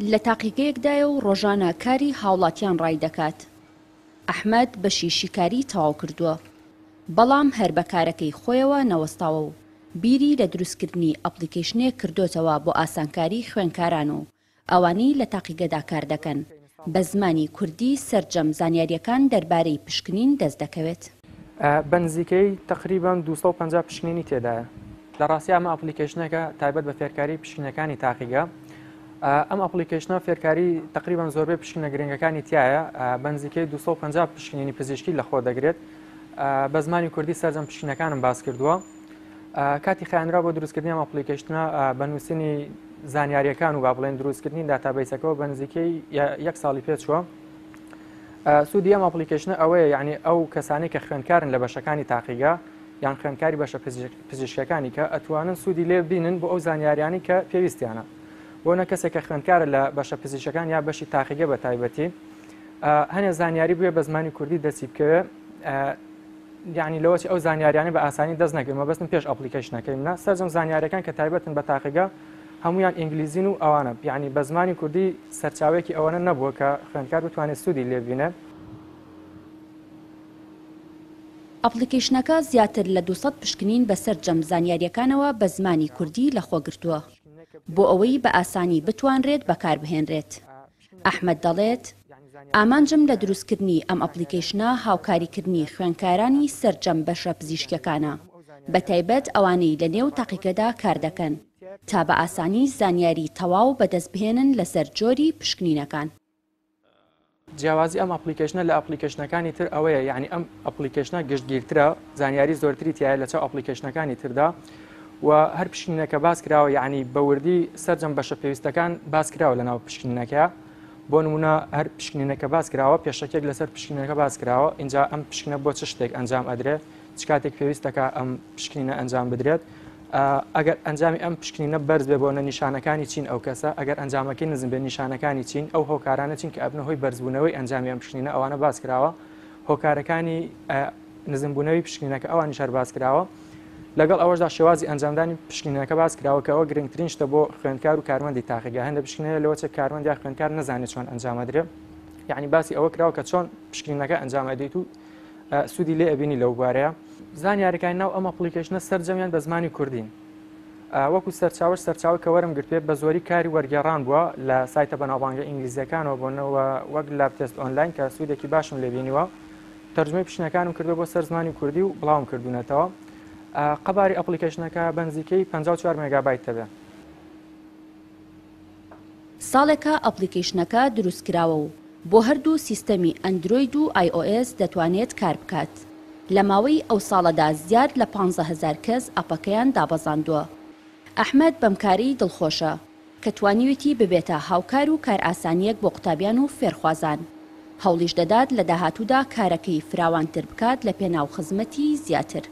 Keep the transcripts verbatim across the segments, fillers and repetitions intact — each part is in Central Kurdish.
لە تاقیگەیەکدایە و ڕۆژانە کاری هاوڵاتیان ڕای دەکات. ئەحمەد بەشی شیکاری تەواو کردووە، بەڵام هەر بە کارەکەی خۆیەوە نەوەستاوە و بیری لە دروستکردنی ئەپڵیکەیشنێک کردۆتەوە بۆ ئاسانکاری خوێنکاران و ئەوانەی لە تاقیگەدا کار دەکەن، بە زمانی کوردی سەرجەم زانیارییەکان دەربارەی پشکنین دەست دەکەوێت. بە نزیکەی تقریبا دوو سەد و پەنجا پشکنینی تێدایە. لە ڕاستی ئەمە ئەپلیکەیشنێکە تایبەت بە فێرکاری پشکنینەکانی تاقیگە. ئەم ئەپلیکەیشنە فێرکاری تقریبا زۆربەی پشکنینە گرنگەکانی تایە، بە نزیکەی دوو سەد و پەنجا پشکنینی پزیشکی لەخۆ دەگرێت. بە زمانی کوردی سەرجەم پشکنینەکانم باس کردووە. کاتی خیانرا بۆ دروستکردنی ئەم ئەپلیکەیشنە بە نووسینی زانیاریەکان و با بڵێن دروستکردنی داتابەیسەکەەوە بە نزیکەی یەک ساڵی پێچووە. سوودی ئەم ئەپلیکەیشنە ئەوەیە، یعنی ئەو کەسانەی کە خوێندکارن لە بەشەکانی تاقیگە یان خوێندکاری بەشە پزیشکەکانی کە ئەتوانن سوودی لێ ببینن بۆ ئەو زانیاریانی کە پێویستیانە. بۆ نە کەسێک کە خوێندکارە لە بەشە پزیشکەکان یا بەشی تاقیگە بە تایبەتی هەنێ زانیاری بووە بە زمانی کوردی دەستی بکەوێ، یعنی لەوەچی ئەو زانیاریانە بە ئاسانی دەست نەکەوێت. مەبەستم پێش ئەپلیکەیشنەکەی منە سەرجەم زانیاریەکان کە تایبەتن بە تاقیگە هەمویان ئینگلیزین و ئەوانە، یعنی بە زمانی کوردی سەرچاوەیەکی ئەوەنە نەبووە کە خوێندکار بتوانێت سوودی لێبینێ. ئەپلیکەیشنەکە زیاتر لە دوو سەد پشکنین بە سەرجەم زانیاریەکانەوە بە زمانی کوردی لەخۆ گرتووە بۆ ئەوەی بە ئاسانی بتوانرێت بەکاربهێنرێت. ئەحمەد دەڵێت ئامانجم لە دروستکردنی ئەم ئەپلیکەیشنە هاوکاریکردنی خوێندکارانی سەرجەم بەشە پزیشکیەکانە، بە تایبەت ئەوانەی لە نێو تاقیگەدا کار دەکەن تا بە ئاسانی زانیاری تەواو بەدەست بهێنن لەسەر جۆری پشکنینەکان. جیاوازی ئەم ئەپلیکەیشنە لە ئەپلیکەیشنەکانی تر ئەوەیە، یعنی ئەم ئەپلیکەیشنە گشتگیرترە، زانیاری زۆرتری تایە لە چاو ئەپلیکەیشنەکانی تردا و هەر پشکنینەکە باس کراوە، یعنی بە وردی سەرجەم بەشە پێویستەکان باس کراوە لەناو پشکنینەکە. بۆ نمونە هەر پشکنینەکە باس کراوە، پێشەکێک لەسەر پشکنینەکە باس کراوە، اینجا ئەم پشکنە بۆ چ شتێک ئەنجام ئەدرێت، چ کاتێک پێویستەکە ئەم پشکنینە ئەنجام بدرێت، ئەگەر ئەنجامی ئەم پشکنینە بەرز بێ بۆ نیشانەکانی چین ئەو کەسە، ئەگەر ئەنجامەکەی نزم بێ نیشانەکانی چین، ئەو هۆکارانە چین کە ئەبنە هۆی بەرزبوونەوەی ئەنجامی ئەم پشکنینە، ئەوانە باس کراوە. هۆکارەکانی نزمبوونەوەی پشکنینەکە ئەوانیش هەر باس کراوە. لەگەڵ ئەوەشدا شێوازی ئەنجامدانی پشکنینەکە باس کراوە کە ئەوە گرنگترین شتە بۆ خوێندکار و کارمەندی تاقیگە. هەندە پشکنینە لەوە چێ کارمەند یا خوێندکار نەزانێت چۆن ئەنجامەدرێ، یعنی باسی ئەوە کراوە کە چۆن پشکنینەکە ئەنجامەدەیت و سوودی لێ ئەبینی لەو بوارەیە. زانیاریەکانی ناو ئەم ئەپلیکەیشنە سەرجەمیان بە زمانی کوردین. وەکو سەرچاوەش سەرچاوە کە وەرم گرتوێ بە زۆری کاری وەرگێڕان بووە لە سایتە بەناوبانگە ئینگلیزیەکانەوە بۆنەوە وەک Lab Test Online کە سوودێکی باشم لێبینیوە. تەرجمەی پشکنەکانم کردو بۆ سەر زمانی کوردی و بڵاوم کردوونەتەوە. قەباری ئەپلیکەیشنەکە بە نزیکەی پەنجا و چوار مێگابایت دەبێت. ساڵێکە ئەپلیکەیشنەکە دروست کراوە و بۆ هەردوو سیستەمی ئەندرۆید و ئای ئۆ ئێس دەتوانێت کار بکات. لە ماوەی ئەو ساڵەدا زیاد لە پانزە هەزار کەس ئەپەکەیان دابەزاندووە. ئەحمەد بەمکاری دڵخۆشە کە توانیوێتی ببێتە هاوکار و کارئاسانیەک بۆ قوتابیان و فێرخوازان. هەوڵیش دەدات لە داهاتوودا کارەکەی فراوانتر بکات لە پێناو خزمەتی زیاتر.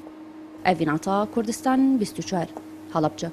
ئەڤیناتا، کوردستان بیست و چوار، هەڵەبجە.